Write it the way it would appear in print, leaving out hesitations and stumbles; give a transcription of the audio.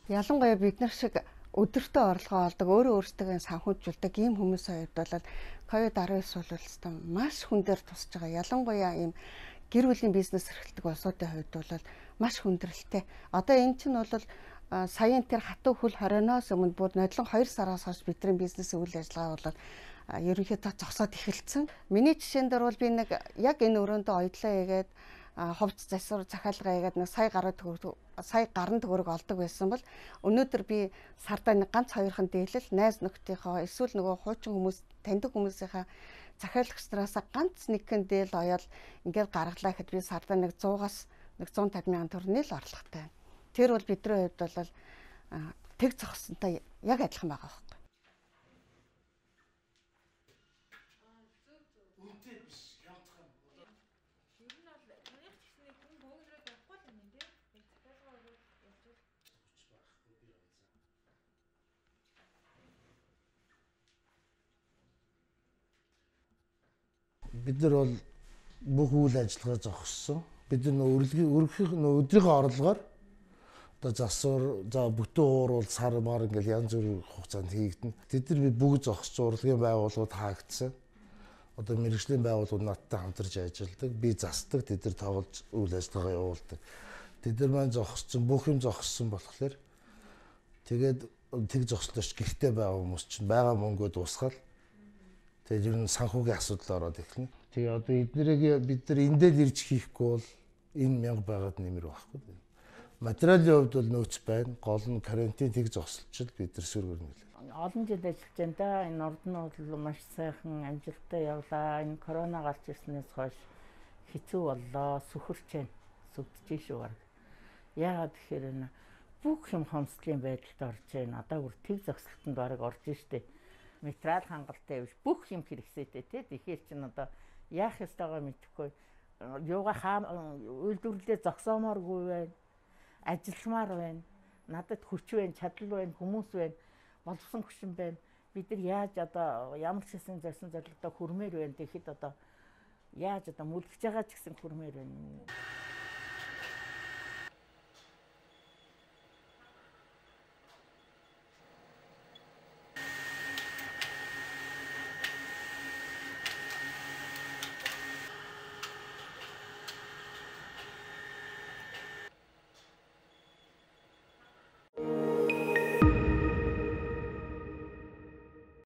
Ялангуяа бид нар шиг өдөртөө орлогоо олдог, өөрөө өөрсдөө санхүүжүүлдэг ийм хүмүүсийн хувьд бол COVID-19 бол өстой маш хүн дээр тусаж байгаа. Ялангуяа ийм гэр бүлийн бизнес эрхэлдэг улсуудын хувьд бол маш хүндрэлтэй. Одоо эн чинь бол саяын тэр хатуу хөл хорионоос өмнө бүр нодлон 2 сараас хойш бидний бизнесийн үйл ажиллагаа бол ерөнхийдөө зогсоод эхэлсэн. Миний жишээн дээр бол би нэг яг энэ өрөөндөө оёдлоо хийгээд ховц засвар захиалга хийгээд нэг сая гаруй төгрөг олдог байсан бол өнөөдөр би сардаа нэг ганц хоёрхан дийлэл найз нөхдийнхөө эсвэл нөгөө хуучин хүмүүс таньдаг хүмүүсийнхаа захиалагч нараас ганц нэгэн дээл оёол ингээд гаргалаа гэхэд би сардаа нэг 100-аас нэг 150 мянган төгрөний л орлоготой байна. Тэр бол бидний хувьд бол тэг зогссонтой яг адилхан байгаа байхгүй. Бид нар бол бүх үйл ажиллагаа зогссон. Бид нар өдрийнхөө орлогоор одоо засвар за бүтэн ууруул сар мар ингээл янз бүрийн хугацаанд хийгдэнэ. Тэд нар бид бүгд зогсож урлагийн байгууллагууд хаагдсан. Одоо мэргэжлийн байгууллагууд надтай хамтарч ажилладаг. Би засдаг, тэд нар тоглож үйл ажиллагаа явуулдаг. Тэд нар маань зогссон, бүх юм зогссон болохоор тэгээд тэг зогслооч гэртээ байгаа хүмүүс чинь байгаа мөнгөө дуусгаад тэгээд ер нь санхүүгийн асуудал ороод эхэлнэ. Тэгээ одоо эднэрийг бид нар эндэл ирж хийхгүй бол энэ мянга байгаад нэмэр байхгүй. Материалын хувьд бол нөөц байна. Гол нь карантин тэг зогсолчод бид нар сөргөрнө. Олон жил ажиллаж байна да. Энэ урд нь бол маш сайхан амжилттай явлаа. Энэ корона гарч ирснээс хойш хэцүү боллоо. Сүхэрч байна. Сүгдэж шүү баг. Яагаад тэгэхээр энэ бүх юм хомсдлын байдалд орж байна. Одоо бүр тэг зогсолтод баг орж штэ. Материал хангалттай биш бүх юм хэрэгсэйтэй тий. Тэгэхээр чин одоо яах ёстойгоо мэдэхгүй. Юугаа үйлдвэрлэлээ зогсоомооргүй байна. Ажилламаар байна. Надад хүч байна, чадал байна, хүмүүс байна. Боловсон хүчин байна. Бид нар яаж одоо ямар ч хэсэг зорьсон зорилгодоо хүрмээр байна. Тэгэхэд одоо яаж одоо мүлгэж байгаа ч гэсэн хүрмээр байна.